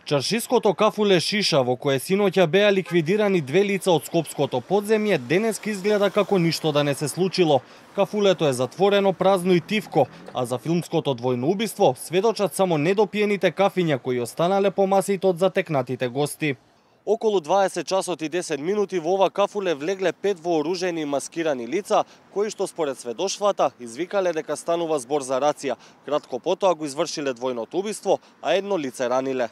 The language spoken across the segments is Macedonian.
Чаршиското кафуле Шиша, во кое синоќа беа ликвидирани 2 лица од скопското подземје, денеска изгледа како ништо да не се случило. Кафулето е затворено, празно и тивко, а за филмското двојно убиство сведочат само недопиените кафиња кои останале по масите од затекнатите гости. Околу 20 часот и 10 минути во ова кафуле влегле 5 вооружени и маскирани лица, кои што според сведоштвата извикале дека станува збор за рација. Кратко потоа го извршиле двојното убиство, а едно лице раниле.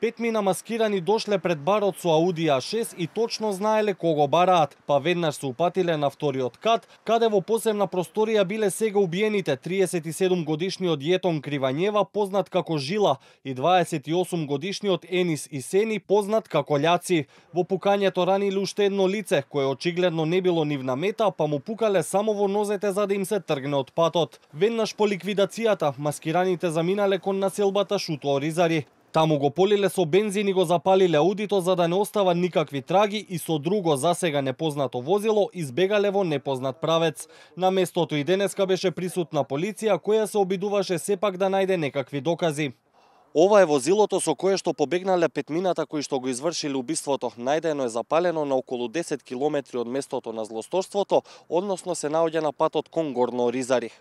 5 мина маскирани дошле пред барот со Ауди А6 и точно знаеле кого бараат, па веднаш се упатиле на вториот кат, каде во посебна просторија биле сега убиените 37 годишниот Јетон Кривањева, познат како Жила, и 28 годишниот Енис Исени, познат како Љаци. Во пукањето раниле уште едно лице, кое очигледно не било нивна мета, па му пукале само во нозете за да им се тргне од патот. Веднаш по ликвидацијата, маскираните заминале кон населбата Шуто-Оризари. Таму го полиле со бензин и го запалиле аудито за да не остава никакви траги и со друго засега непознато возило избегале во непознат правец. На местото и денеска беше присутна полиција која се обидуваше сепак да најде некакви докази. Ова е возилото со кое што побегнале петмината кои што го извршиле убиството. Најдено е запалено на околу 10 километри од местото на злосторството, односно се наоѓа на патот кон Горно Оризари.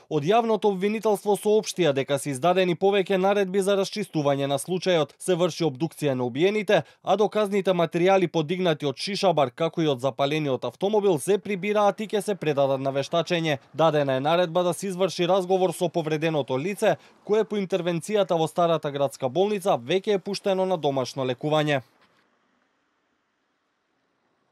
Од јавното обвинителство соопштија дека се издадени повеќе наредби за расчистување на случајот, се врши обдукција на убиените, а доказните материјали подигнати од Шишабар, како и од запалениот автомобил, се прибираат и ќе се предадат на вештачење. Дадена е наредба да се изврши разговор со повреденото лице, кое по интервенцијата во Старата градска болница веќе е пуштено на домашно лекување.